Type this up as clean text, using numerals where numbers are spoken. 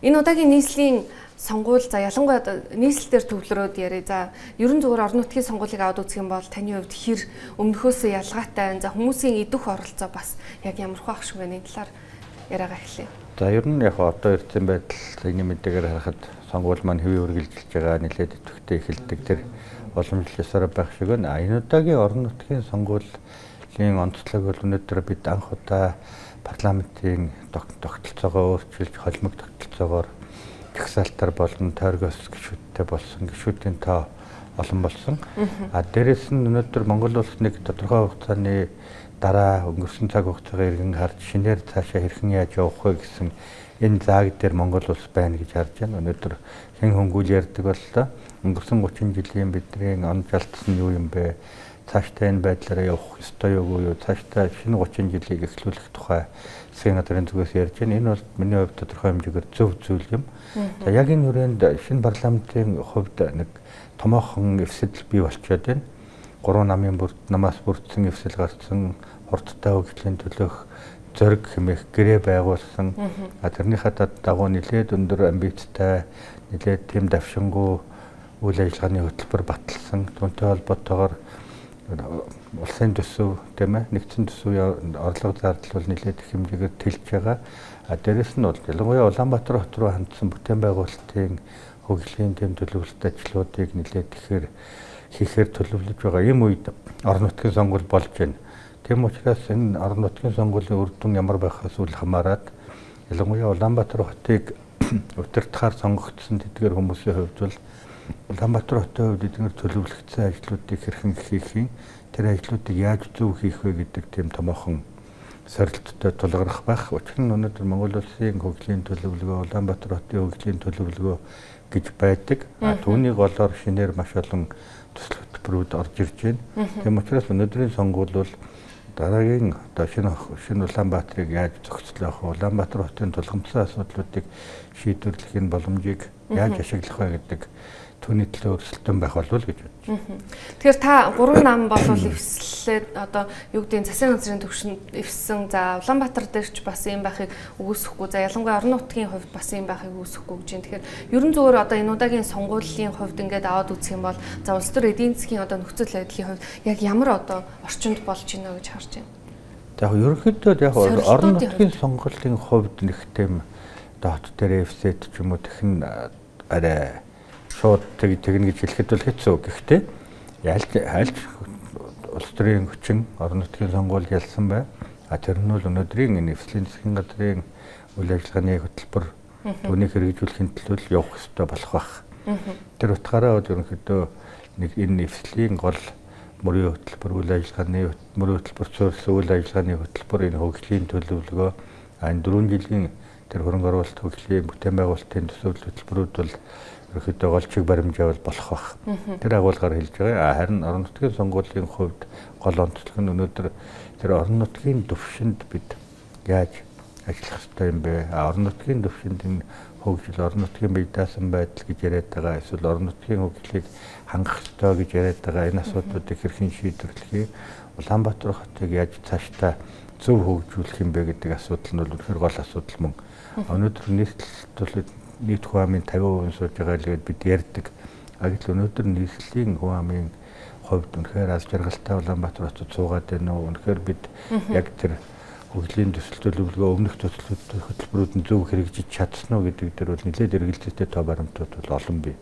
Энэ удаагийн нийслэлийн сонгуул за ялангуяа нийслэлээр төвлөрөөд яриа. За ерөн зүгээр орон нутгийн сонгуулийг аваад үзэх юм бол таны хувьд хэр өмнөхөөсөө ялгаатай. За хүмүүсийн идэх оролцоо бас яг ямархуу ах шиг байна. Энэ талаар яриагаа эхлэе. За ер нь яг одоо эрдэнэ байдал энэ мэдээгээр харахад сонгуул маань хэвийн үргэлжилж байгаа нэлээд идэвхтэй эхэлдэг тэр боломжлосоор байх шиг байна. Энэ удаагийн орон нутгийн сонгуулийн онцлог бол өнөөдөр бид анх удаа парламентын тогтолцоогоо өөрчилж холимог тогтолцоогоор жагсаалтар болон тойргоос гишүүдтэй болсон гишүүдийн тоо олон болсон. Дээрээс нь өнөөдөр Монгол улс нэг тодорхой хугацааны дараа өнгөрсөн цаг хугацаагаа иргэн харж шинээр цаашаа хэрхэн яаж явах вэ гэсэн энэ зааг дээр Монгол улс байна гэж харж байна. Өнөөдөр хэн хөнгүүл ярьдаг боллоо. Өнгөрсөн 30 жилийн бидний он жалтсан юу юм бэ? Цаашдаа энэ байдлаараа явах ёстой юу? Цаашдаа шинэ 30 жилийг эхлүүлэх тухай засгийн газрын зүгээс ярьж байна. Энэ бол миний хувьд тодорхой хэмжээгээр зөв зүйл юм. За яг энэ хүрээнд шинэ парламентын хувьд нэг томоохон эвсэл бий болчиход байна. 3 намын намаас бүрдсэн эвсэл гарсан, хурдтай хөгжлийн төлөөх зориг хэмээх гэрээ байгуулсан. Тэрнийхээ дагуу нэлээд өндөр амбицтай, нэлээд тэм давшингуй үйл ажиллагааны хөтөлбөр баталсан. Түүнтэй холбоотойгоор улсын төсөв тийм ээ нэгдсэн төсвийн орлого зардал бол нэлээд их хэмжээгээр тэлж байгаа. Дээрэс нь бол ялангуяа Улаанбаатар хот руу хандсан бүтээн байгуулалтын хөгжлийн тэм төлөвлөлт ажлуудыг нэлээд хийхээр төлөвлөж байгаа. Ийм үед орон нутгийн сонгуул болж байна. Тийм учраас энэ орон нутгийн сонгуулийн үр дүн ямар байхаас үл хамааран ялангуяа Улаанбаатар хотыг удирдахаар сонгогдсон тэдгээр хүмүүсийн хувьд бол Улаанбаатар хотын хувьд эдгээр төлөвлөгдсөн ажлуудыг хэрхэн хийх, тэр ажлуудыг яаж зөв хийх вэ гэдэг тийм томоохон сорилттой тулгарх байх. Учир нь өнөөдөр Монгол улсын хөгжлийн төлөвлөгөө, Улаанбаатар хотын хөгжлийн төлөвлөгөө гэж байдаг. Түүнийг голоор шинээр маш олон төсөл хөтөлбөрүүд орж ирж байна. Тийм учраас өнөөдрийн сонгуул бол дараагийн одоо шинэ Улаанбаатарыг яаж зохицлох вэ? Улаанбаатар хотын тулгымцсан асуудлуудыг шийдвэрлэх боломжийг яаж ашиглах вэ гэдэг түүний төлөө өрсөлдөөн байх болов гэж бодож байна. Тэгэхээр та 3 нам болвол эвслээд одоо юу гэдгийг засгийн газрын төвшөнд эвссэн. За Улаанбаатар дээр ч бас юм байхыг үгүйсэхгүй. За ялангуяа орон нутгийн хувьд бас юм байхыг үгүйсэхгүй гэж байна. Тэгэхээр ерөн зөвөр одоо энэ удаагийн сонгуулийн хувьд ингээд аваад үзэх юм бол за улс төр эдийн засгийн одоо нөхцөл байдлын хувьд яг ямар одоо орчинд болж байна гэж харж байна. За яг ерөнхийдөө яг орон нутгийн сонгуулийн хувьд нэг тийм одоо хот дээр эвсээд ч юм уу тэгэн арай шууд тэгнэ гэж хэлэхэд бол хэцүү. Гэхдээ альж улс төрийн хүчин орон нутгийн сонгуул ялсан бай. Тэр нь бол өнөөдрийн энэ эвслийн засгийн газрын үйл ажиллагааны хөтөлбөр түүнийг хэрэгжүүлэхийн төлөө явах ёстой болох байх. Тэр утгаараа бол ерөнхийдөө нэг энэ эвслийн гол мөрийн хөтөлбөр үйл ажиллагааны мөрийн хөтөлбөр суурилсан үйл ажиллагааны хөтөлбөр энэ хөгжлийн төлөвлөгөө энэ 4 жилийн тэр хөрөнгө оруулалт хөгжлийн бүтээн байгуулалтын төсөөлөл хөтөлбөрүүд бол ерөнхийдөө голчиг баримжаавал болох байх. Тэр агуулгаар хэлж байгаа. Харин орон нутгийн сонгуулийн хувьд гол онцлог нь өнөөдөр тэр орон нутгийн төвшөнд бид яаж ажиллах ёстой юм бэ? Орон нутгийн төвшөнд энэ хөгжил, орон нутгийн бие даасан байдал гэж яриад байгаа. Эсвэл орон нутгийн хөгжлийг хангах ёстой гэж яриад байгаа. Энэ асуудлуудыг хэрхэн шийдвэрлэх вэ? Улаанбаатар хотыг яаж цаашдаа зөв хөгжүүлэх юм бэ гэдэг асуудал нь бол үнэхээр гол асуудал мөн. Өнөөдөр нийт хүн амын 50% сууж байгаа л бид ярьдаг. Гэтэл өнөөдөр нийслэлийн хүн амын хувьд үнэхээр аз жаргалтай Улаанбаатар хотод суугаад байна уу? Үнэхээр бид яг тэр хөгжлийн төсөл төлөвлөгөө өмнөх төсөл хөтөлбөрүүд нь зөв хэрэгжиж чадсан уу гэдэг дээр бол нэлээд эргэлзээтэй тоо баримтууд бол олон бий.